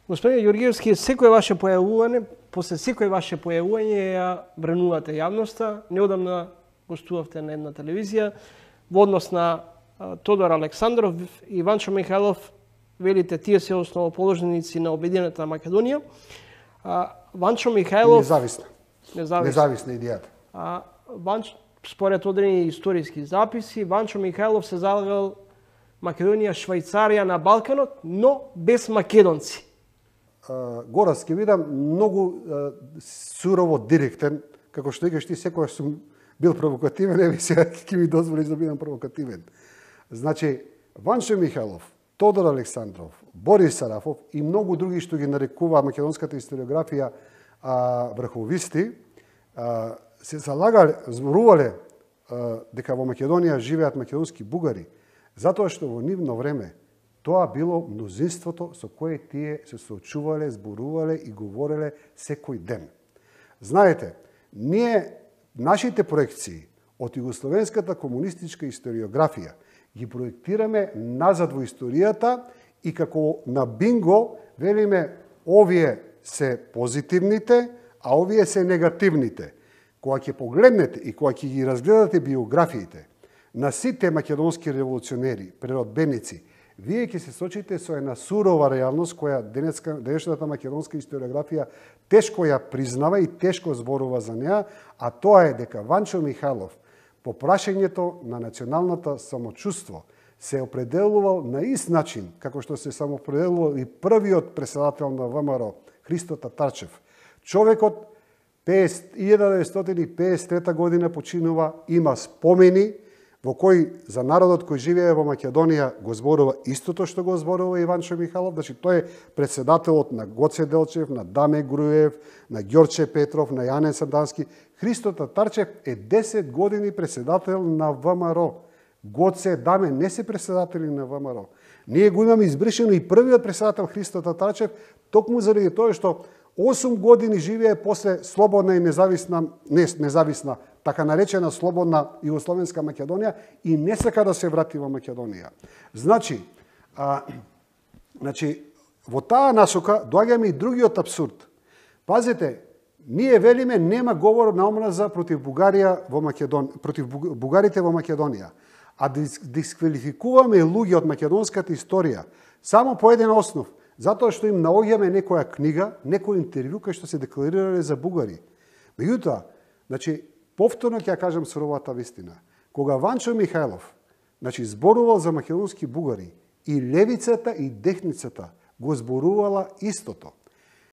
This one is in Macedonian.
Господине Ѓоргиевски, секое ваше појавување, после секое ваше појавување ја бренувате јавноста. Неодамна гостувавте на една телевизија во однос на Тодор Александров и Ванчо Михајлов. Велите, тие се основоположници на Обединета Македонија. Ванчо Михајлов... Независна идејата. Според одредени историски записи, Ванчо Михајлов се залагал Македонија Швајцарија на Балканот, но без македонци. Горас ќе видам многу сурово директен, како што викаш ти, секојаш сум бил провокативен, еви сега ќе ми дозволиш да бидам провокативен. Значи, Ванчо Михајлов, Тодор Александров, Борис Сарафов и многу други што ги нарекува македонската историографија врховисти, се залагале, зборувале дека во Македонија живеат македонски бугари, затоа што во нивно време тоа било мнозинството со кое тие се соочувале, зборувале и говореле секој ден. Знаете, нашите проекции од југословенската комунистичка историографија ги проектираме назад во историјата и како на бинго велиме овие се позитивните, а овие се негативните. Кога ќе погледнете и кога ќе ги разгледате биографиите на сите македонски револуционери, преродбеници, вие ќе се сочите со една сурова реалност која денешната македонска историографија тешко ја признава и тешко зборува за неа, а тоа е дека Ванчо Михајлов по прашањето на националната самочувство се определувал на ист начин како што се самоопределувал и првиот председател на ВМРО Христо Татарчев. Човекот 1953 година починува, има спомени во кој за народот кој живее во Македонија го зборува истото што го зборува и Ванчо Михајлов, значи тој е председателот на Гоце Делчев, на Даме Груев, на Ѓорче Петров, на Јанен Сандански. Христо Татарчев е 10 години председател на ВМРО. Гоце, Даме не се председатели на ВМРО. Ние го имаме избришено и првиот председател Христо Татарчев, токму заради тоа што 8 години живее после слободна и независна, така наречена слободна Југословенска Македонија и не сака да се врати во Македонија. Значи, во таа насока доаѓаме и другиот абсурд. Пазете, ние велиме нема говор на омраза против Бугарија во Македонија, против бугарите во Македонија, а дисквалификуваме луѓе од македонската историја само по еден основ, затоа што им наоѓаме некоја книга, некој интервју кај што се декларирале за бугари. Меѓутоа, значи, повторно ќе ја кажам суровата вистина. Кога Ванчо Михајлов, значи, зборувал за македонски бугари, и левицата и десницата го зборувала истото.